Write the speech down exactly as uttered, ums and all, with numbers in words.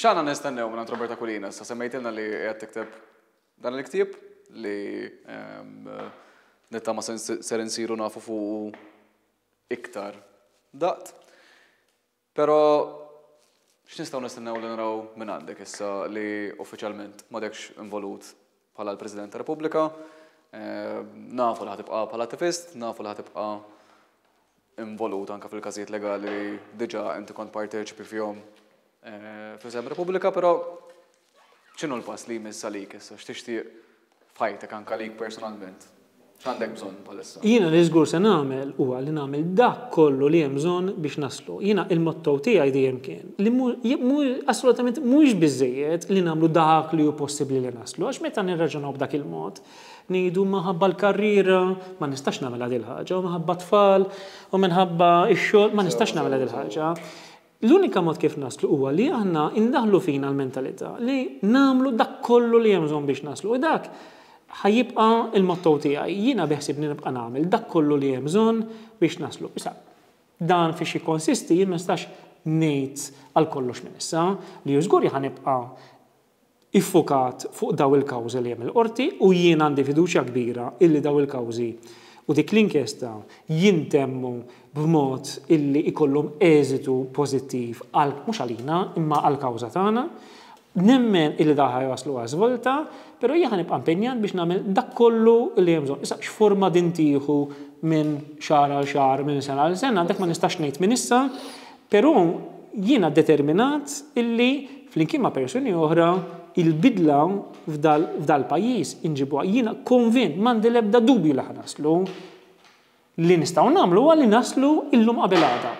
X'għandna nistennew minn Robert Aquilina? Sa semmejtilna li qed tikteb dan il-ktieb li nittama ser insiru nafu fuq iktar daqt. Però x'nistgħu nistennew li naraw minn għandek issa li uffiċjalment m'għadekx involut bħala l-President ta' Repubblika? Nafu li ħa tibqa' bħala attivist, nafu li ħa tibqa' involut anka fil-każijiet legali li diġà inti kont parteċipi fihom f'isem Repubblika, però x'inhu l-pass li jmiss għalik issa, x'tixtieq f'ħajtek anka lik personalment? X'għandek bżonn bħalissa? Jiena li żgur se nagħmel huwa li nagħmel dak kollu li hemm bżonn biex naslu. Jiena il-motto tiegħi dejjem kien li assolutament mhux biżejjed li nagħmlu dak li hu possibbli li naslu, għax meta nirraġunaw b'dak il-mod, ngħidu minħabba l-karriera ma nistax nagħmel din il-ħaġa, u minħabba tfal, u minħabba x-xogħol ma nistax nagħmel din il-ħaġa. L-unika mod kif naslu huwa li aħna indaħlu fina l-mentalità li nagħmlu dak kollu li hemm bżonn biex naslu. U dak ħa jibqa' il-motto tiegħi. Jiena beħsibni nibqa' nagħmel dak kollu li hemm bżonn biex naslu. Issa, dan fiex jikkonsisti jien ma nistax ngħid għal kollox minn issa li żgur ħa nibqa' iffukat fuq daw il-kawżi li hemm il-qorti u jien għandi fiduċja kbira illi daw il-kawżi u dik l-inkjesta jintemmu b'mod illi ikollhom eżitu pożittiv għal mhux għalina imma għall-kawża tagħna. Nemmen illi daħ jaslu għal żvolta, però jien nibqa' impenjat biex nagħmel dak kollu li hemm bżonn. Issa x'forma din tieħu minn xahar għal xahar, minn sena għal sena, dak ma nistax ngħid minn issa, però jiena determinat illi flimkien ma' persuni oħra il-bidla f'dal pajjiż inġibuha. Jiena konvint, m'għandi l-ebda dubju li ħa naslu. Li nistgħu nagħmlu huwa li naslu illum qabel għada.